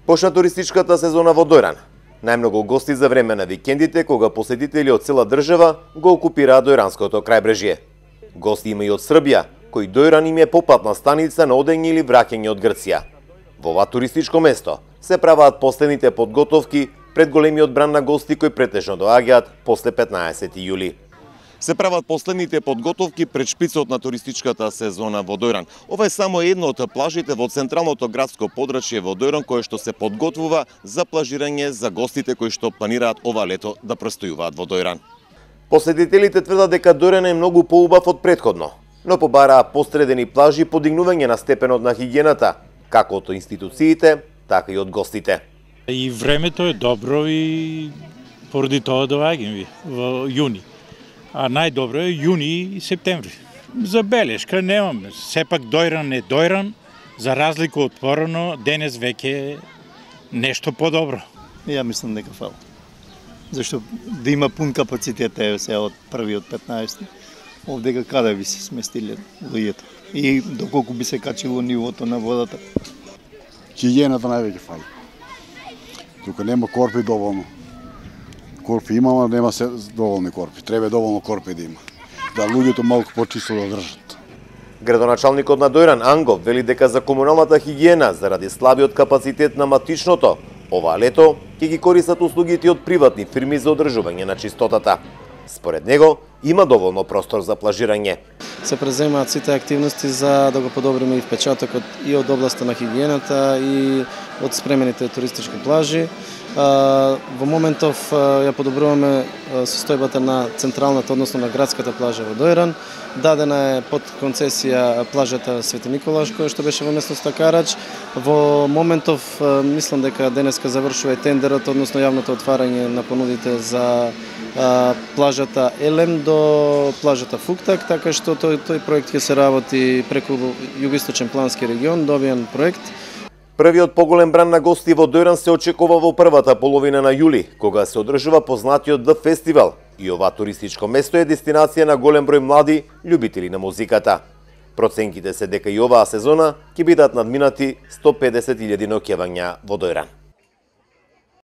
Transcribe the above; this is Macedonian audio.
Почна туристичката сезона во Дојран. Најмногу гости за време на викендите, кога посетители од цела држава го окупираат Дојранското крајбрежје. Гости има и од Србија, кој Дојран им е попатна станица на одење или враќање од Грција. Во ова туристичко место се праваат последните подготовки пред големиот бран на гости кои претежно доаѓаат после 15 јули. Се прават последните подготовки пред шпицот на туристичката сезона во Дојран. Ова е само едно од плажите во централното градско подрачје во Дојран кое што се подготвува за плажирање за гостите кои што планираат ова лето да престојуваат во Дојран. Посетителите тврдат дека Дојран е многу поубав од претходно, но побараа постредени плажи и подигнување на степенот на хигиената, како од институциите, така и од гостите. И времето е добро и поради тоа доаѓам ви во јуни. А најдобро е јуни и септември. Забелешка немаме. Сепак Дојран е Дојран, за разлика од порано, денес веќе е нешто подобро. Ја мислам дека фала. Зашто да има пун капацитет е сега од 1 од 15. Овдека каде би се сместиле луѓето? И доколку би се качило нивото на водата? Хигиената највеќе фали. Тука нема корпи доволно. Корпи има, нема се доволни корпи. Треба доволно корпи да има. Да луѓето малку почисто да држат. Градоначалникот на Дојран Ангов вели дека за комуналната хигиена заради слабиот капацитет на матичното, ова лето ќе ги користат услугите од приватни фирми за одржување на чистотата. Според него има доволно простор за плажирање. Се преземаат сите активности за да го подобриме и впечатокот и од областа на хигиената и од спремените туристички плажи. Во моментов ја подобруваме состојбата на централната, односно на градската плажа во Дојран. Дадена е под концесија плажата Свети Николаш, која што беше во местноста Карач. Во моментов мислам дека денеска завршува тендерот, односно јавното отварање на понудите за плажата Елем до плажата Фуктак, така што тој проект ќе се работи преку Југоисточен плански регион, добиен проект. Првиот поголем бран на гости во Дојран се очекува во првата половина на јули, кога се одржува познатиот Д фестивал. И ова туристичко место е дестинација на голем број млади љубители на музиката. Проценките се дека и оваа сезона ќе бидат надминати 150.000 ноќевања во Дојран.